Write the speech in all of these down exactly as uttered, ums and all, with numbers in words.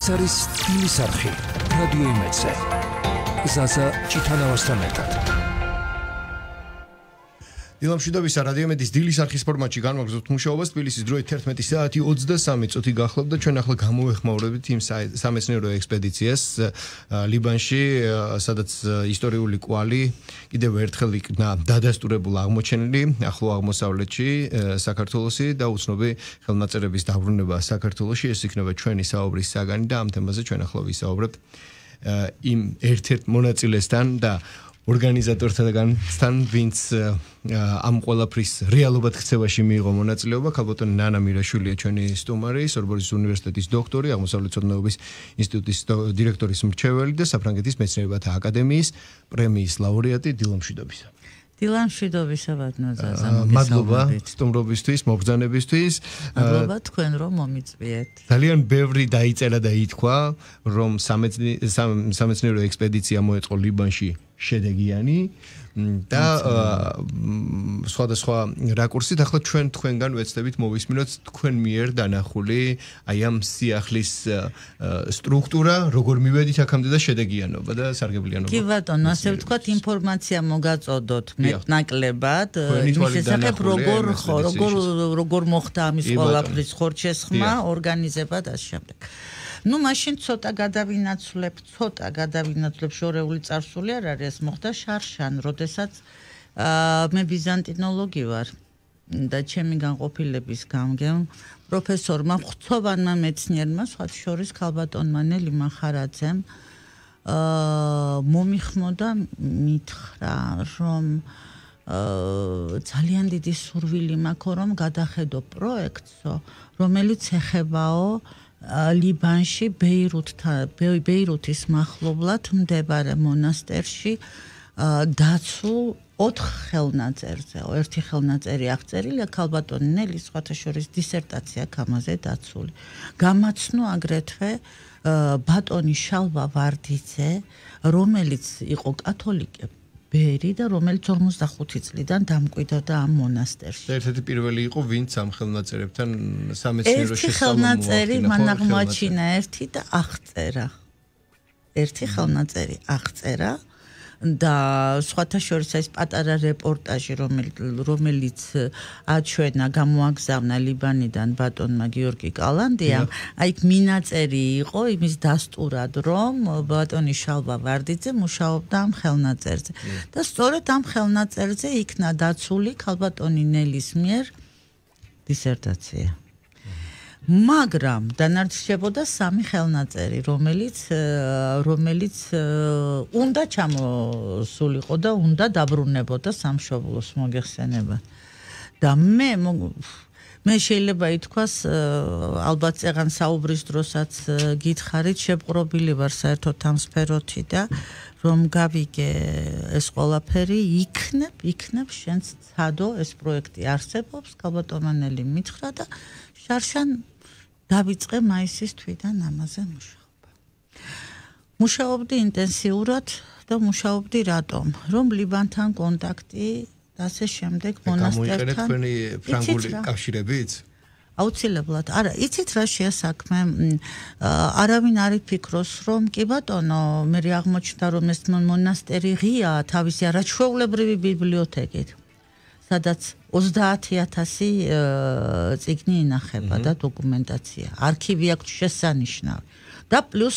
ეს არის სტილის არხი რადიო იმედზე. ზაზა ჩიტანავასთან ერთად. დილამშვიდობის რადიო იმედის დილის არხის ფორმატში განვაგრძობთ მუშაობას. თბილისის დროით თერთმეტი საათი ოცდასამი წუთი გახლავთ და ჩვენ ახლა გამოვეხმაურებით იმ სამეცნიერო ექსპედიციას ლიბანში, სადაც ისტორიული კვალი კიდევ ერთხელ იქნა დადასტურებულ აღმოჩენილი ახლო აღმოსავლეთში, საქართველოსი და უცნობი ხელნაწერების დაბრუნება საქართველოში. ეს იქნება ჩვენი საუბრის საგანი და ამ თემაზე ჩვენ ახლა ვისაუბრებთ იმ ერთ-ერთ მონაწილესთან და ორგანიზატორთაგანთან, ვინც ამ ყველაფრის რეალობად ქცევაში მიიღო მონაწილეობა. ქალბატონი ნანა მირაშვილია ჩვენი სტუმარი, სორბონის უნივერსიტეტის დოქტორი, აღმოსავლეთმცოდნეობის ინსტიტუტის დირექტორის მრჩეველი და საფრანგეთის მეცნიერებათა აკადემიის პრემიის ლაურეატი. დილამშვიდობისა. დილამშვიდობისა ბატონზაზა. მადლობა სტუმრობისთვის, მობრძანებისთვის. მადლობა თქვენ რომ მომიწვიეთ. ძალიან ბევრი დაიწერა და ითქვა, რომ სამეცნიერო ექსპედიცია მოეწყო ლიბანში შედეგიანი და სხვადასხვა რაკურსით. ახლა ჩვენ თქვენგან ვეცდებით მოვისმინოთ თქვენ მიერ დანახული აი ამ სიახლის სტრუქტურურა, როგორ მივედით აქამდე და შედეგიანობა და სარგებლიანობა. კი ბატონო, ასე ვთქვათ, ინფორმაცია მოგაწოდოთ მეტნაკლებად, იმის შესახებ როგორ როგორ როგორ მოხდა ამის ყველაფრის ხორჩესხმა, ორგანიზება და შემდეგ. Ну, მაშინ ცოტა გადავინაცვლებ, ცოტა გადავინაცვლებ შორეული წარსული არ არის, ეს მოხდა შარშან, როდესაც მე ბიზანტინოლოგი ვარ და ჩემი განყოფილების გამგემ პროფესორმა ღვთოვანმა მეცნიერმა, სხვა შორის ქალბატონმა ნელი მახარაძემ მომიხმოდა, მითხრა, რომ ძალიან დიდი სურვილი მაქვს, რომ გადახედო პროექტსო, რომელიც ეხებაო ლიბანში ბეირუთის მახლობლად მდებარე მონასტერში დაცულ ოთხ ხელნაწერზე. ერთი ხელნაწერი აღწერილია ქალბატონი ნელის სხვათა შორის დისერტაცია ამაზე დაცული. გამაცნო აგრეთვე ბატონი შალვა ვარდიძე, რომელიც იყო კათოლიკე ბერი და რომელიც ორმოცდახუთი წლიდან დამკვიდრდა ამ მონასტერში. ერთ-ერთი პირველი იყო, ვინც ამ ხელნაწერებთან სამეცნიერო ერთი ხელნაწერი მან აღმოაჩინა ერთი და აღწერა. ერთი ხელნაწერი აღწერა და სხვათა შორის ეს პატარა რეპორტაჟი, რომელიც აჩვენა, გამოაგზავნა ლიბანიდან ბატონმა გიორგი კალანდიამ, აი მინაწერი იყო იმის დასტურად, რომ ბატონი შალვა ვარდიძე მუშაობდა ამ ხელნაწერზე. და სწორედ ამ ხელნაწერზე იქნა დაცული ქალბატონი ნელის მიერ დისერტაცია. მაგრამ დანარჩებოდა სამი ხელნაწერი, რომელიც რომელიც უნდა ჩამოსულიყო და უნდა დაბრუნებოდა სამშობლოს მოგეხსენება. და მე მე შეიძლება ითქვას, ალბათ წეღან საუბრის დროსაც გითხარით, შეპყრობილი ვარ საერთოდ ამ სფეროთი და რომ გავიგე ეს ყველაფერი იქნებ, იქნებ შენც ცადო, ეს პროექტი არსებობს, ქალბატონმა ნელი მითხრა და შარშან დავიწყე მაისის თვიდან ამაზე მუშაობა. მუშაობდი ინტენსიურად და მუშაობდი რატომ? რომ ლიბანთან კონტაქტი და ასე შემდეგ მონასტერთან. გამოიყენეთ თქვენი ფრანგული კავშირებიც? აუცილებლად. არა, იცით რა შეასაქმე? არავინ არ იფიქროს, რომ კი ბატონო, მე აღმოჩნდა, რომ ეს მონასტერი ღია თავისი არაჩვეულებრივი ბიბლიოთეკით, სადაც ოცდაათი ათასი წიგნი ინახება და დოკუმენტაცია. არქივი აქვს შესანიშნავი. და პლუს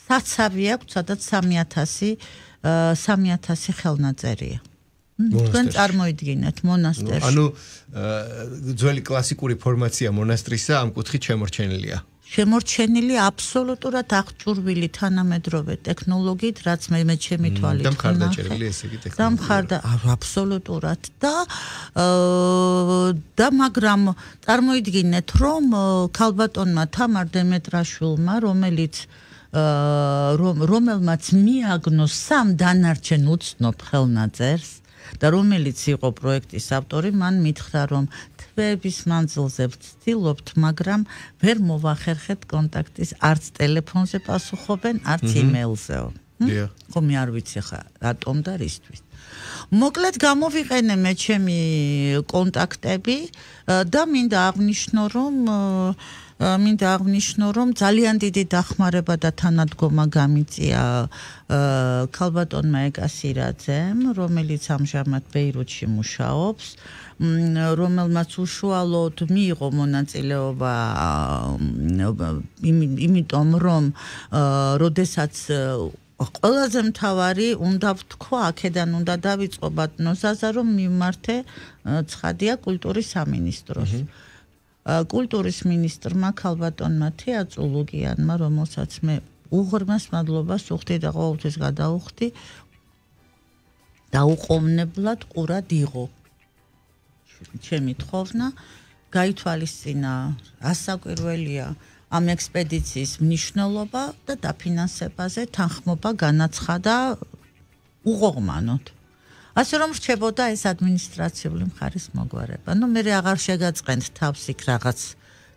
საცავი აქვს, სადაც სამი ათასი ხელნაწერია. თქვენ წარმოიდგინეთ მონასტერში. ანუ ძველი კლასიკური ფორმაცია მონასტრისა ამ კუთხით შემორჩენილია. შემორჩენილი აბსოლუტურად აღჭურვილი თანამედროვე ტექნოლოგიით, რაც მე მე ჩემი თვალით და მხარდაჭერილი ესე იგი ტექნოლოგია. და მხარდა აბსოლუტურად და და მაგრამ წარმოიდგინეთ, რომ ქალბატონმა თამარ დემეტრაშვილმა, რომელიც რომელმაც მიაგნოს სამ დანარჩენ უცნობ ხელნაწერს და რომელიც იყო პროექტის ავტორი, მან მითხრა, რომ თვეების მანძილზე ვცდილობთ, მაგრამ ვერ მოვახერხებთ კონტაქტის, არც ტელეფონზე პასუხობენ, არც იმეილზეო. ხო, მე არ ვიცი ხა რატომ და რისთვის. მოკლედ გამოვიყენე მე ჩემი კონტაქტები და მინდა აღნიშნო, რომ მინდა აღვნიშნო, რომ ძალიან დიდი დახმარება და თანადგომა გამიწია ქალბატონმა ეკასირაძემ, რომელიც ამჟამად ბეირუთში მუშაობს, რომელმაც უშუალოდ მიიღო მონაწილეობა იმიტომ, რომ როდესაც ყველაზე მთავარი უნდა ვთქვა, აქედან უნდა დავიწყო ბატონო ზაზა, რომ მიმართე ცხადია კულტურის სამინისტროს. კულტურის მინისტრმა ქალბატონმა თეატროლოგიანმა, რომელსაც მე უღრმეს მადლობას ვუხდი და ყოველთვის გადავუხდი, დაუყოვნებლად ყურად იღო. ჩემი თხოვნა გაითვალისწინა, ასაკვირველია ამ ექსპედიციის მნიშვნელობა და დაფინანსებაზე თანხმობა განაცხადა უღრმანოდ. ასე რომ რჩებოდა ეს ადმინისტრაციული მხარის მოგვარება. ნუ მე აღარ შეგაწყენთ თავს იქ რაღაც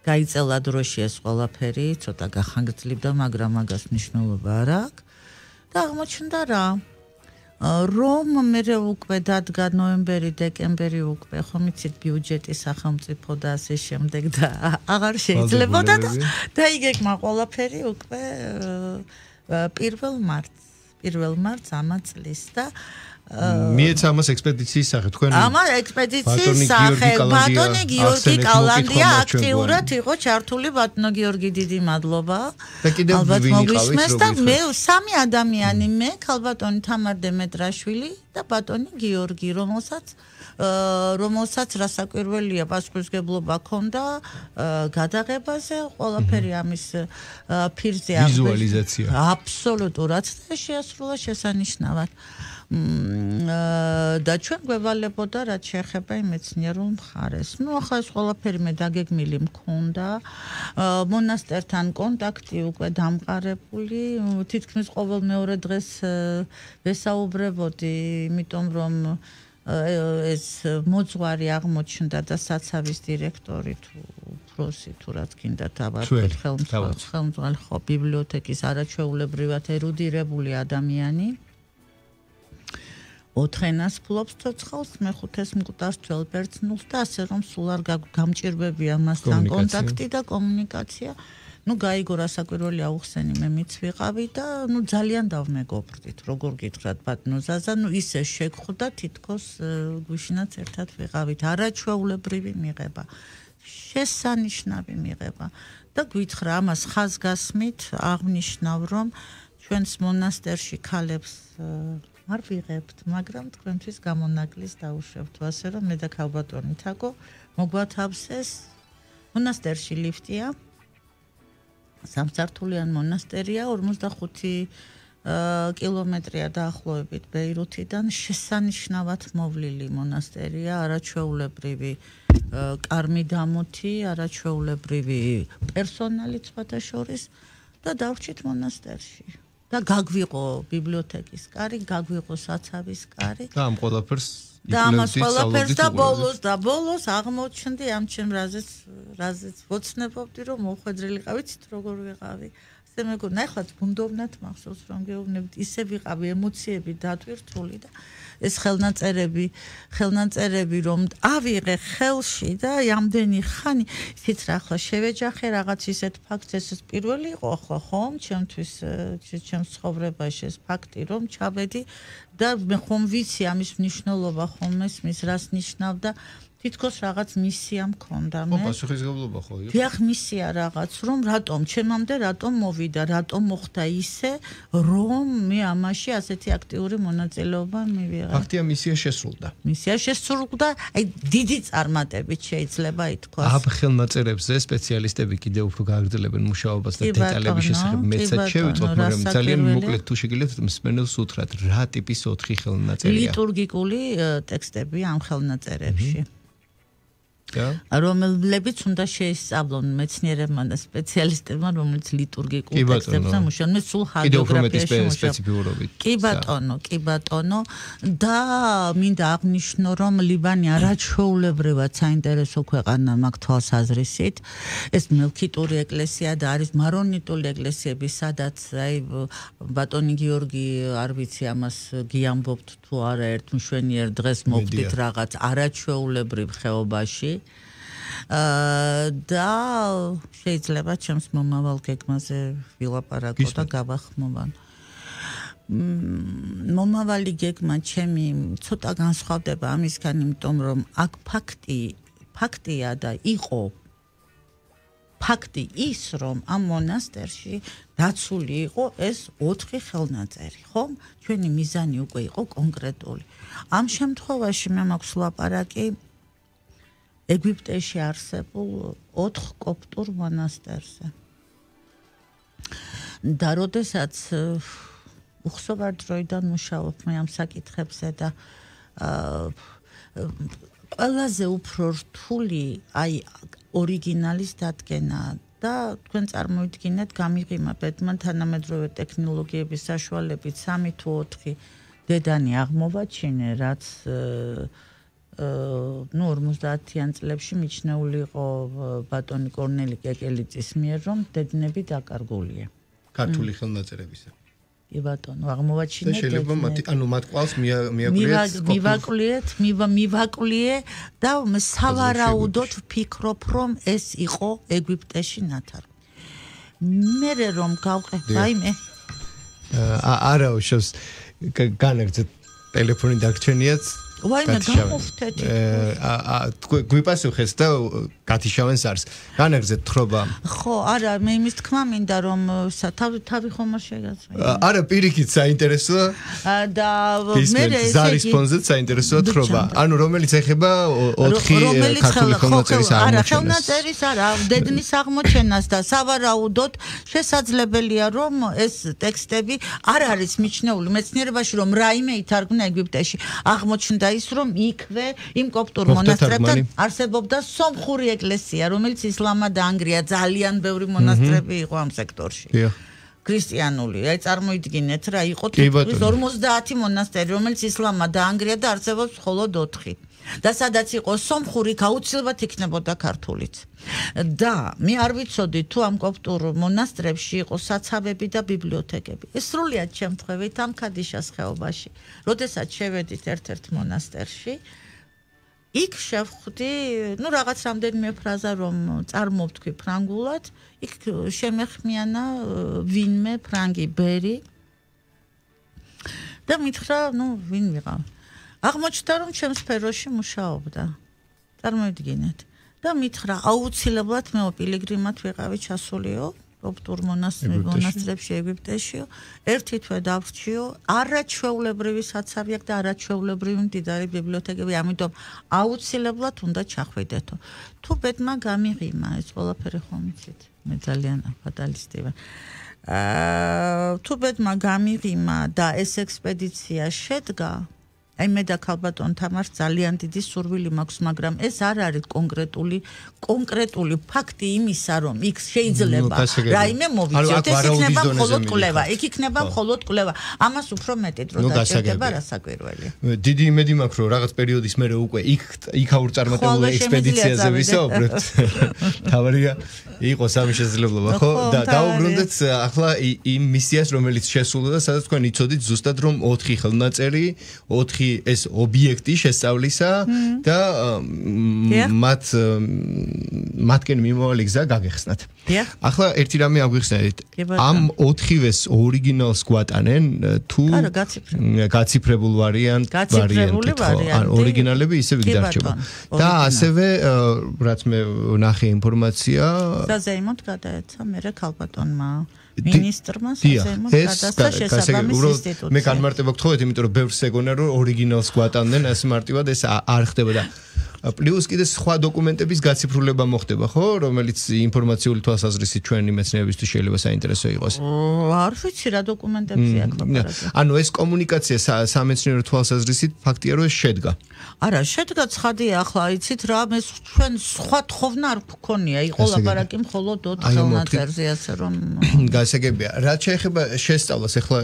გაიწელა დროში ეს ყველაფერი, ცოტა გახანგრძლივდა, მაგრამ მაგას მნიშვნელობა არ აქვს. და აღმოჩნდა რა, რომ მე უკვე დადგა ნოემბერი, დეკემბერი უკვე, ხომ იცით ბიუჯეტი სახელმწიფო და ასე შემდეგ და აღარ შეიძლებოდა და დაიგეგმა ყველაფერი უკვე პირველ მარტს, პირველ მარტს ამა წლის და მიეცა ამას ექსპედიციის სახე თქვენ ამა ექსპედიციის სახე ბატონი გიორგი კალანდია აქტიურად იყო ჩართული ბატონო გიორგი დიდი მადლობა და კიდევ მოგისმენთ და მე სამი ადამიანი მე ქალბატონი თამარ დემეტრაშვილი და ბატონი გიორგი რომელსაც რომელსაც რასაკვირველია პასუხისმგებლობა ჰქონდა გადაღებაზე ყველაფერი ამის ფირზე ვიზუალიზაცია აბსოლუტურად და შეასრულა შესანიშნავად და ჩვენ გვევალებოდა რაც შეეხება იმ მეცნიერულ მხარეს. ნუ ახლა ეს ყველაფერი მე დაგეგმილი მქონდა. მონასტერთან კონტაქტი უკვე დამყარებული. თითქმის ყოველ მეორე დღეს ვესაუბრებოდი, იმიტომ რომ ეს მოძღვარი აღმოჩნდა და საცავის დირექტორი თუ პროსი თუ რაც გინდა დავარქვით ხელმძღვანელი ხო ბიბლიოთეკის არაჩვეულებრივად ერუდირებული ადამიანი. ოთხენას ფლობს ცოცხალს, მეხუთეს მკვდარს თველბერძნულს და ასე რომ სულ არ გამჭირვებია მასთან კონტაქტი და კომუნიკაცია. ნუ გაიგო რასაკვირველია უხსენი მე მიც ვიყავი და ნუ ძალიან დავმეგობრდით, როგორ გითხრათ ბატონო ზაზა, ნუ ისე შეგხვდა თითქოს გვიშინაც ერთად ვიყავით, არაჩვეულებრივი მიღება, შესანიშნავი მიღება და გითხრა ამას ხაზგასმით აღნიშნავ, რომ ჩვენს მონასტერში ქალებს არ ვიღებთ, მაგრამ თქვენთვის გამონაკლის დაუშვებთ, ასე რომ მე და ქალბატონი თაკო მოგვათავსეს მონასტერში ლიფტია. სამსართულიან მონასტერია, ორმოცდახუთი კილომეტრია დაახლოებით ბეირუთიდან, შესანიშნავად მოვლილი მონასტერია, არაჩვეულებრივი კარმიდამოთი, არაჩვეულებრივი პერსონალი სხვათა შორის და დავრჩით მონასტერში. და გაგვიყო ბიბლიოთეკის კარი, გაგვიყო საცავის კარი. და ამ ყველაფერს და ამას ყველაფერს და ბოლოს და ბოლოს აღმოჩნდი ამ ჩემ რაზეც რაზეც ვოცნებობდი რომ მოხვედრილი ყავი, ცით როგორ ვიყავი. ასე მეგონა, ეხლა ბუნდოვნად მახსოვს რომ გეუბნებით, ისე ვიყავი ემოციები დატვირთული და ეს ხელნაწერები, ხელნაწერები რომ ავიღე ხელში და ამდენი ხანი, ისიც რა ახლა შევეჯახე რაღაც ისეთ ფაქტს, ეს პირველი იყო ახლა ხომ ჩემთვის ჩემს ცხოვრებაში ეს ფაქტი რომ ჩავედი და მე ხომ ვიცი ამის მნიშვნელობა ხომ ესმის რას ნიშნავდა თითქოს რაღაც მისია მქონდა მე. ხო, პასუხისმგებლობა ხო იყო. დიახ, მისია რაღაც, რომ რატომ ჩემამდე რატომ მოვიდა, რატომ მოხდა ისე, რომ მე ამაში ასეთი აქტიური მონაწილეობა მივიღე. ფაქტია მისია შესრულდა. მისია შესრულდა, აი დიდი წარმატებით შეიძლება ითქვას. ამ ხელნაწერებზე სპეციალისტები კიდევ უფრო გააგრძელებენ მუშაობას და დეტალების შესახებ მეცად შევიწოთ, მაგრამ ძალიან მოკლედ თუ შეგიძლიათ მსმენელს უთხრათ, რა ტიპის ოთხი ხელნაწერია. ლიტურგიკული ტექსტები ამ ხელნაწერებში. რომელებიც უნდა შეისწავლონ მეცნიერებმა და სპეციალისტებმა, რომელიც ლიტურგიკულ ტექსტებზე მუშაობენ, სულ ჰაგიოგრაფიაში მუშაობენ. კი ბატონო, კი ბატონო და მინდა აღნიშნო, რომ ლიბანი არაჩვეულებრივად საინტერესო ქვეყანა მაქვს თვალსაზრისით. ეს მელქიტური ეკლესია და არის მარონიტული ეკლესიები, სადაც აი ბატონი გიორგი არ ვიცი ამას გიამბობთ თუ არა ერთ მშვენიერ დღეს მოვდით რაღაც არაჩვეულებრივ ხეობაში. და შეიძლება ჩემს მომავალ გეგმაზე ვილაპარაკო და გავახმოვან. მომავალი გეგმა ჩემი ცოტა განსხვავდება ამისგან, იმიტომ რომ აქ ფაქტი ფაქტია და იყო ფაქტი ის, რომ ამ მონასტერში დაცული იყო ეს ოთხი ხელნაწერი, ხო? ჩვენი მიზანი უკვე იყო კონკრეტული. ამ შემთხვევაში მე მაქვს ლაპარაკი ეგვიპტეში არსებულ ოთხ კოპტურ მონასტერზე. და როდესაც უხსოვარ დროიდან მუშაობ მე ამ საკითხებზე და ყველაზე უფრო რთული აი ორიგინალის დადგენა და თქვენ წარმოიდგინეთ გამიღიმა ბედმა თანამედროვე ტექნოლოგიების საშუალებით სამი თუ ოთხი დედანი აღმოვაჩინე, რაც ნუ ორმოცდაათიან წლებში მიჩნეული იყო ბატონი კორნელი კეკელიძის მიერ, რომ დედნები დაკარგულია. ქართული ხელნაწერებისა. კი ბატონო, აღმოვაჩინეთ. შეიძლება მათ ანუ მათ ყავს მიაკვლიეთ. მივაკვლიეთ, მივაკვლიე და სავარაუდოდ ვფიქრობ, რომ ეს იყო ეგვიპტეში ნათარგმნი. მერე რომ გავყრე, რაიმე არა უშავს განაგრძეთ ტელეფონი დაგჩენიათ. ვაიმე გამოვთეთ. აა გვიპასუხეს და გათიშავენ სარს. განაგრძეთ თხრობა. ხო, არა, მე იმის თქმა მინდა რომ თავი თავი ხომ არ შეგაწყვეტ. არა, პირიქით საინტერესოა. და მე ესე ზარის ფონზე საინტერესოა თხრობა. ანუ რომელიც ეხება ოთხი ქართული ხელნაწერის აღმოჩენას. არა, ხელნაწერის არა, დედნის აღმოჩენას და სავარაუდოდ შესაძლებელია რომ ეს ტექსტები არ არის მიჩნეული მეცნიერებაში, რომ რაიმე ითარგმნა ეგვიპტეში. აღმოჩნდა ის რომ იქვე იმ კოპტურ მონასტრებთან არსებობდა სომხური ეკლესია, რომელიც ისლამად დაანგრია, ძალიან ბევრი მონასტრები იყო ამ სექტორში. ქრისტიანული. აი წარმოიდგინეთ რა, იყო თითქმის ორმოცდაათი მონასტერი, რომელიც ისლამად დაანგრია და არსებობს მხოლოდ ოთხი. და სადაც იყო სომხური, აუცილებლად იქნებოდა ქართულიც. და მე არ ვიცოდი თუ ამ კოპტურ მონასტრებში იყო საცავები და ბიბლიოთეკები. ეს სრულიად შემთხვევით ამ ქადიშას ხეობაში. როდესაც შევედით ერთ-ერთ მონასტერში, იქ შევხვდი, ну რაღაც რამდენიმე ფრაზა რომ წარმოვთქვი ფრანგულად, იქ შემეხმიანა ვინმე ფრანგი ბერი და მითხრა, ну ვინ ვიყავ. აღმოჩნდა რომ ჩემს სფეროში მუშაობდა. წარმოიდგინეთ. და მითხრა აუცილებლად მე პილიგრიმად ვიყავი ჩასულიო კოპტურ მონასტრებში ეგვიპტეშიო, ერთი თვე დავრჩიო, არაჩვეულებრივი საცავი აქვს და არაჩვეულებრივი მდიდარი ბიბლიოთეკები, ამიტომ აუცილებლად უნდა ჩახვიდეთო. თუ ბედმა გამიღიმა ეს ყველაფერი ხომ იცით, მე ძალიან ფატალისტი ვარ. აა თუ ბედმა გამიღიმა და ეს ექსპედიცია შედგა, აი მე და ქალბატონ თამარს ძალიან დიდი სურვილი მაქვს, მაგრამ ეს არ არის კონკრეტული კონკრეტული ფაქტი იმისა, რომ იქ შეიძლება რაიმე მოვიწიოთ, ეს იქნება მხოლოდ კვლევა, იქ იქნება მხოლოდ კვლევა. ამას უფრო მეტი დრო დაჭირდება რასაკვირველია. დიდი იმედი მაქვს, რომ რაღაც პერიოდის მერე უკვე იქ იქ აურწარმოებულ ექსპედიციაზე ვისაუბრებთ. თავარია იყო სამი შესაძლებლობა, ხო? და დაუბრუნდეთ ახლა იმ მისიას, რომელიც შესულა და სადაც თქვენ იცოდით ზუსტად რომ ოთხი ხელნაწერი, ოთხი ეს ობიექტი შესწავლისა და მათ მათკენ მიმავალი გზა გაგეხსნათ. ახლა ერთი რამე აგვიხსენეთ. ამ ოთხივეს ორიგინალს გვატანენ თუ გაციფრებულ ვარიანტ ვარიანტი. ან ორიგინალები ისევ იქ დარჩება. და ასევე რაც მე ვნახე ინფორმაცია საზეიმოდ გადაეცა მერე ქალბატონმა მინისტრმა საზეიმოდ გადასცა შესაბამის ინსტიტუტზე. მე განმარტება გთხოვეთ, იმიტომ რომ ბევრს ეგონა რომ ორიგინალს გვატანდნენ, ეს მარტივად ეს არ ხდება და პლუს კიდე სხვა დოკუმენტების გაციფრულება მოხდება, ხო, რომელიც ინფორმაციული თვალსაზრისით ჩვენი მეცნიერებისთვის შეიძლება საინტერესო იყოს. არ ვიცი რა დოკუმენტებია აქ ლაპარაკი. ანუ ეს კომუნიკაცია სამეცნიერო თვალსაზრისით ფაქტია რომ ეს შედგა. არა, შედგა ცხადია, ახლა იცით რა, მე ჩვენ სხვა თხოვნა არ გქონია, იყო ლაპარაკი მხოლოდ ოთხ ხელნაწერზე, ასე რომ გასაგებია. რაც შეეხება შესწავლას, ახლა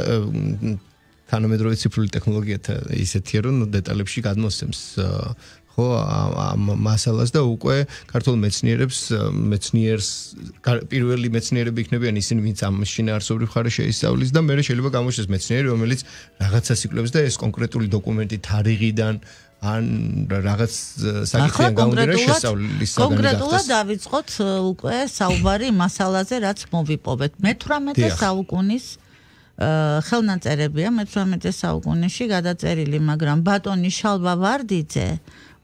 თანამედროვე ციფრული ტექნოლოგიათა ისეთია რომ დეტალებში გადმოსცემს ხო ამ მასალას და უკვე ქართულ მეცნიერებს მეცნიერს პირველი მეცნიერები იქნებიან ისინი ვინც ამ შინაარსობრივ ხარეს შეისწავლის და მე შეიძლება გამოჩნდეს მეცნიერი რომელიც რაღაცას იკვლევს და ეს კონკრეტული დოკუმენტი თარიღიდან ან რაღაც საკითხიან გამოდიოდა შესწავლის საგანი კონკრეტულად დავიწყოთ უკვე საუბარი მასალაზე, რაც მოვიპოვეთ. მეთვრამეტე საუკუნის ხელნაწერებია, მეთვრამეტე საუკუნეში გადაწერილი, მაგრამ ბატონი შალვა ვარდიძე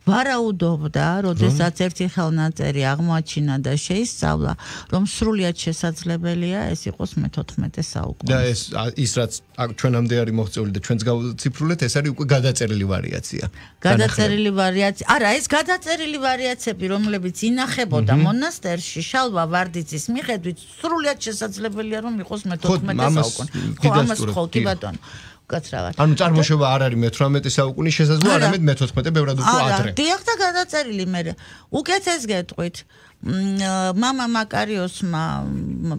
ვარაუდობდა, როდესაც ერთი ხელნაწერი აღმოაჩინა და შეისწავლა, რომ სრულიად შესაძლებელია ეს იყოს მეთოთხმეტე საუკუნის. და ეს ის რაც ჩვენამდე არის მოღწეული და ჩვენც გავციფრულეთ, ეს არის უკვე გადაწერილი ვარიაცია. გადაწერილი ვარიაცია. არა, ეს გადაწერილი ვარიაციები, რომლებიც ინახებოდა მონასტერში, შალვა ვარდიძის მიხედვით, სრულიად შესაძლებელია, რომ იყოს მეთოთხმეტე საუკუნე. ხო, ამას ხო, კი ბატონო. კაცრავად. ანუ წარმოშობა არ არის მეთვრამეტე საუკუნის შესაძლოა, არამედ მეთოთხმეტე ბევრად უფრო ადრე. არა, დიახ და გადაწერილი მე. უკეთეს გეტყვით. მამა მაკარიოსმა,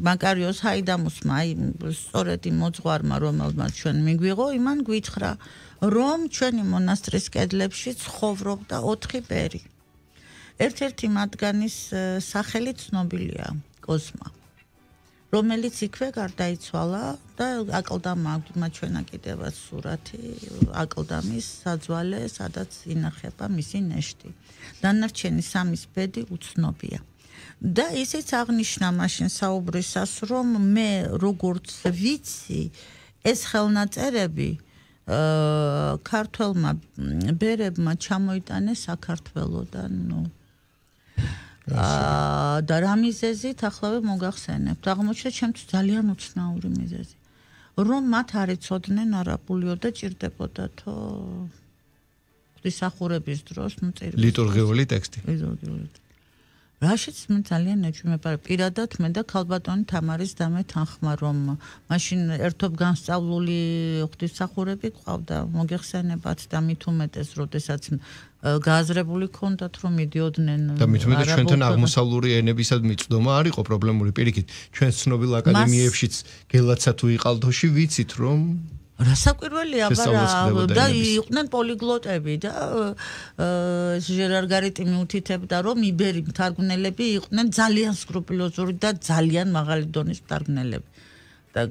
მაკარიოს ჰაიდამუსმა, აი სწორედ იმ მოძღვარმა, რომელმაც ჩვენ მიგვიღო, იმან გვითხრა, რომ ჩვენი მონასტრის კედლებში ცხოვრობდა ოთხი ბერი. ერთ-ერთი მათგანის სახელი ცნობილია, კოზმა. რომელიც იქვე გარდაიცვალა და აკლდამა აქვს მათ ჩვენა კიდევაც სურათი აკლდამის საძვალე, სადაც ინახება მისი ნეშტი. დანარჩენი სამის ბედი უცნობია. და ისიც აღნიშნა მაშინ საუბრისას, რომ მე როგორც ვიცი, ეს ხელნაწერები ქართველმა ბერებმა ჩამოიტანეს საქართველოდან, ნუ აა და რა მიზეზით ახლავე მოგახსენებთ. აღმოჩნდა ჩემთვის ძალიან უცნაური მიზეზი. რომ მათ არ იცოდნენ არაბულიო და ჭირდებოდათო ღვთისმსახურების დროს, ნუ წერილი. ლიტურგიული ტექსტი. ლიტურგიული. რაშიც მე ძალიან ეჩვიმებარ პირადად მე და ქალბატონი თამარის და მე თანხმა, რომ მაშინ ერთობ განსწავლული ღვთისმსახურები ყავდა, მოგეხსენებათ და მით უმეტეს, როდესაც გააზრებული ქონდათ, რომ მიდიოდნენ და მით უმეტეს ჩვენთან აღმოსავლური ენებისად მიწვდომა არ იყო პრობლემური. პირიქით, ჩვენ ცნობილ აკადემიებშიც გელაცა თუ იყალთოში ვიცით, რომ რასაკვირველია, აბა და იყვნენ პოლიგლოტები და ჟერარ გარიტი მიუთითებდა, რომ იბერი მთარგმნელები იყვნენ ძალიან სკრუპულოზური და ძალიან მაღალი დონის მთარგმნელები. და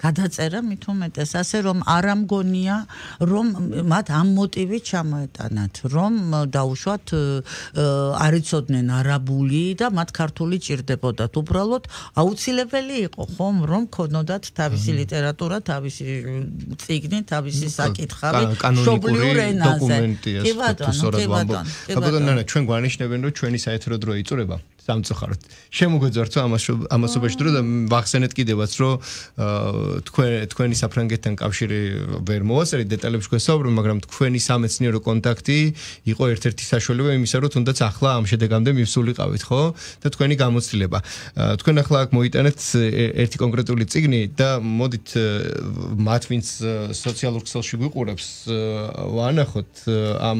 გადაწერა მით უმეტეს ასე, რომ არ ამგონია, რომ მათ ამ მოტივით ჩამოეტანათ, რომ დაუშვათ არ იცოდნენ არაბული და მათ ქართული ჭირდებოდათ. უბრალოდ აუცილებელი იყო, ხომ, რომ ქონოდათ თავისი ლიტერატურა, თავისი წიგნი, თავისი საკითხავი მშობლიურ ენაზე. კი ბატონო, კი ბატონო. ბატონო, ჩვენ გვანიშნებენ, რომ ჩვენი საეთრო დრო იწურება. სამწუხაროდ. შემოგვეძვართ ამასობაში დრო და ვახსენეთ კიდევაც, რომ თქვენ თქვენი საფრანგეთთან კავშირი ვერ მოვაწერით დეტალებში გვესაუბრებთ, მაგრამ თქვენი სამეცნიერო კონტაქტი იყო ერთ-ერთი საშუალება იმისა, რომ თუნდაც ახლა ამ შედეგამდე მივსულიყავით, ხო? და თქვენი გამოცდილება. თქვენ ახლა აქ მოიტანეთ ერთი კონკრეტული წიგნი და მოდით მათ ვინც სოციალურ ქსელში გვიყურებს, ვანახოთ ამ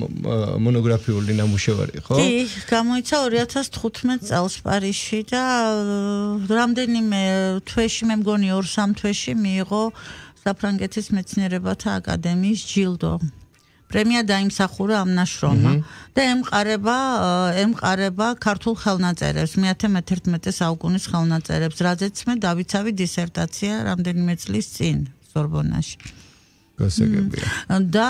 მონოგრაფიული ნამუშევარი, ხო? კი, გამოიცა ორი ათას თხუთმეტ წელს პარიზში და რამდენიმე თვეში, მე მგონი ორ სამ თვეში მიიღო საფრანგეთის მეცნიერებათა აკადემიის ჯილდო. პრემია დაიმსახურა ამ ნაშრომმა და ემყარება ემყარება ქართულ ხელნაწერებს, მეათე მეთერთმეტე საუკუნის ხელნაწერებს, რაზეც მე დავიცავი დისერტაცია რამდენიმე წლის წინ სორბონაში. გასაგებია. და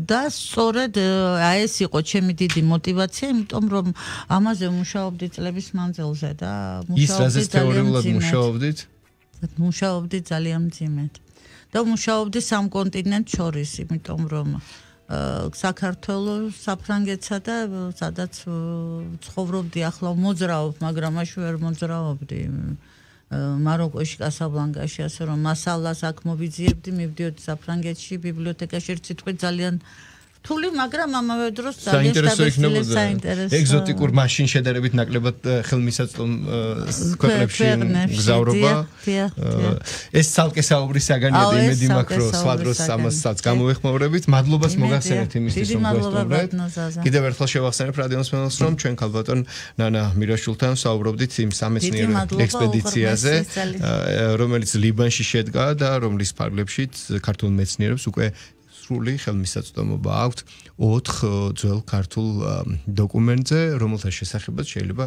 და სწორედ ეს იყო ჩემი დიდი мотиваცია, იმიტომ რომ ამაზე მუშაობდი წლების მანძილზე და მუშაობდი თეორიულად მუშაობდით? მუშაობდი ძალიან მძიმედ. და მუშაობდი სამ კონტინენტს შორის, იმიტომ რომ საქართველოს, საფრანგეთსა და სადაც ცხოვრობდი, ახლა მოძრაობ, მაგრამ მაშინ ვერ მოძრაობდი. მაროკოში, კასაბლანკაში, ასე რომ მასალას აქ მოვიძიებდი, მივდიოდი საფრანგეთში, ბიბლიოთეკაში, ერთ სიტყვით ძალიან რთული, მაგრამ ამავე დროს ძალიან სტაბილიზებული საინტერესო. ეგზოტიკურ მაშინ შედარებით ნაკლებად ხელმისაწვდომ ქვეყნებში გზავრობა. ეს ცალკე საუბრის საგანია და იმედი მაქვს, რომ სხვა დროს ამასაც გამოვეხმაურებით. მადლობას მოგახსენებთ იმისთვის, რომ გვესწავლეთ. კიდევ ერთხელ შევახსენებ რადიოს მსმენელს, რომ ჩვენ ქალბატონ ნანა მირაშვილთან საუბრობდით იმ სამეცნიერო ექსპედიციაზე, რომელიც ლიბანში შედგა და რომლის ფარგლებშიც ქართულ მეცნიერებს უკვე სრული ხელმისაწვდომობა აქვთ ოთხ ძველ ქართულ დოკუმენტზე, რომელთა შესახებაც შეიძლება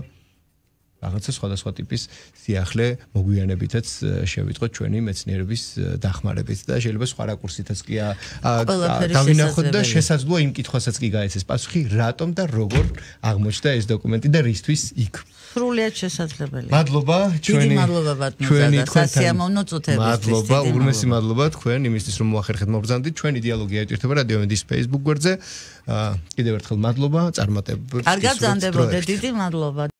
რაღაცა სხვადასხვა ტიპის სიახლე მოგვიანებითაც შევიტყოთ ჩვენი მეცნიერების დახმარებით და შეიძლება სხვა რაკურსითაც კი დავინახოთ და შესაძლოა იმ კითხვასაც კი გაეცეს პასუხი, რატომ და როგორ აღმოჩნდა ეს დოკუმენტი და რისთვის იქ. სრულიად შესაძლებელია. მადლობა ჩვენი მადლობა ბატონო და სასიამოვნო წუთებისთვის. მადლობა, ურმესი მადლობა თქვენ იმისთვის რომ მოახერხეთ მობრძანდით. ჩვენი დიალოგი აიტვირთება რადიომედის Facebook გვერდზე. კიდევ ერთხელ მადლობა, წარმატებებს. კარგად ზანდებოდეთ, დიდი მადლობა.